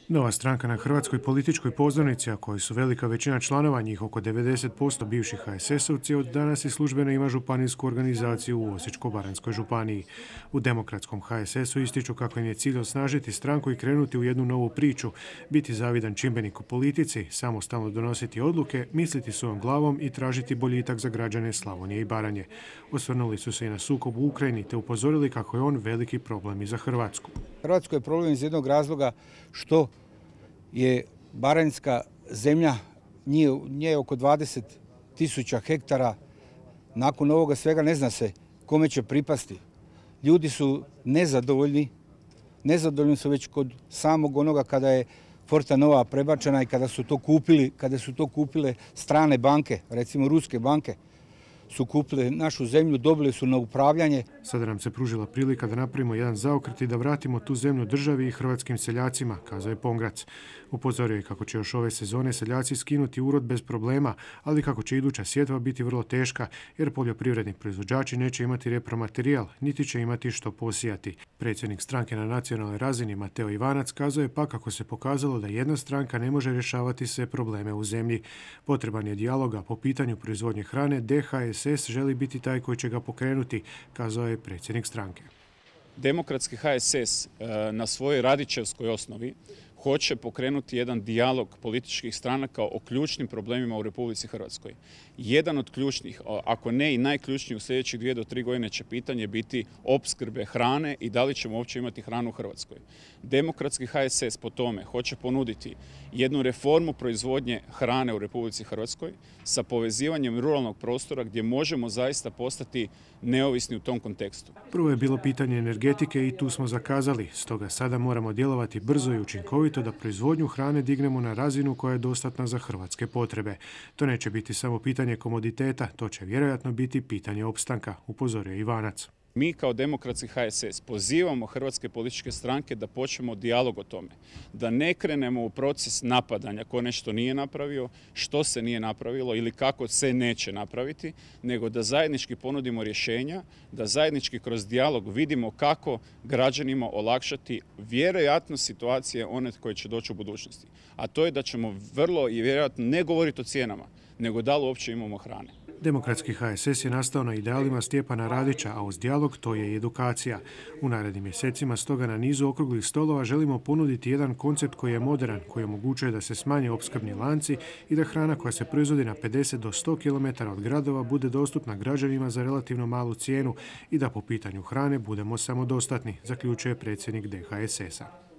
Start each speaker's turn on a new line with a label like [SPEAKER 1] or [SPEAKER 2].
[SPEAKER 1] Nova stranka na hrvatskoj političkoj pozornici, a koji su velika većina članova, njih oko 90% bivših HSS-ovci, od danas i službeno ima županijsku organizaciju u Osječko-baranjskoj županiji. U demokratskom HSS-u ističu kako im je cilj osnažiti stranku i krenuti u jednu novu priču, biti zavidan čimbenik u politici, samostalno donositi odluke, misliti svojom glavom i tražiti boljitak za građane Slavonije i Baranje. Osvrnuli su se i na sukob u Ukrajini te upozorili kako je on veliki problem i za Hrvatsku.
[SPEAKER 2] Hrvatskoj je problem iz jednog razloga što je baranjska zemlja, nje oko 20.000 hektara. Nakon ovoga svega ne zna se kome će pripasti. Ljudi su nezadovoljni su već kod samog onoga kada je Fortanova prebačena i kada su to kupile strane banke, recimo ruske banke su kupile našu zemlju, dobili su na upravljanje.
[SPEAKER 1] Sada nam se pružila prilika da napravimo jedan zaokret i da vratimo tu zemlju državi i hrvatskim seljacima, kazao je Pongrac. Upozorio je kako će još ove sezone seljaci skinuti urod bez problema, ali kako će iduća sjetva biti vrlo teška, jer poljoprivredni proizvođači neće imati repromaterijal, niti će imati što posijati. Predsjednik stranke na nacionalnoj razini Mateo Ivanac kazao je pa kako se pokazalo da jedna stranka ne može rješavati sve probleme u zemlji. Potreban je dijaloga po pitanju proizvodnje hrane, DHSS želi biti taj koji će ga pokrenuti, kazao je predsjednik stranke.
[SPEAKER 3] Demokratski HSS na svojoj radičevskoj osnovi hoće pokrenuti jedan dijalog političkih stranaka o ključnim problemima u Republici Hrvatskoj. Jedan od ključnih, ako ne i najključniji u sljedećih 2 do 3 godine će pitanje biti opskrbe hrane i da li ćemo uopće imati hranu u Hrvatskoj. Demokratski HSS po tome hoće ponuditi jednu reformu proizvodnje hrane u Republici Hrvatskoj sa povezivanjem ruralnog prostora gdje možemo zaista postati neovisni u tom kontekstu.
[SPEAKER 1] Prvo je bilo pitanje energetike i tu smo zakazali, stoga sada moramo djelovati brzo i učinkovito da proizvodnju hrane dignemo na razinu koja je dostatna za hrvatske potrebe. To neće biti samo pitanje komoditeta, to će vjerojatno biti pitanje opstanka, upozorio Ivanac.
[SPEAKER 3] Mi kao Demokratski HSS pozivamo hrvatske političke stranke da počnemo dijalog o tome, da ne krenemo u proces napadanja ko nešto nije napravio, što se nije napravilo ili kako se neće napraviti, nego da zajednički ponudimo rješenja, da zajednički kroz dijalog vidimo kako građanima olakšati vjerojatno situacije one koje će doći u budućnosti. A to je da ćemo vrlo i vjerojatno ne govoriti o cijenama, nego da li uopće imamo hrane.
[SPEAKER 1] Demokratski HSS je nastao na idealima Stjepana Radića, a uz dijalog to je i edukacija. U narednim mjesecima stoga na nizu okruglih stolova želimo ponuditi jedan koncept koji je moderan, koji omogućuje da se smanje opskrbni lanci i da hrana koja se proizvodi na 50 do 100 km od gradova bude dostupna građanima za relativno malu cijenu i da po pitanju hrane budemo samodostatni, zaključuje predsjednik DHSS-a.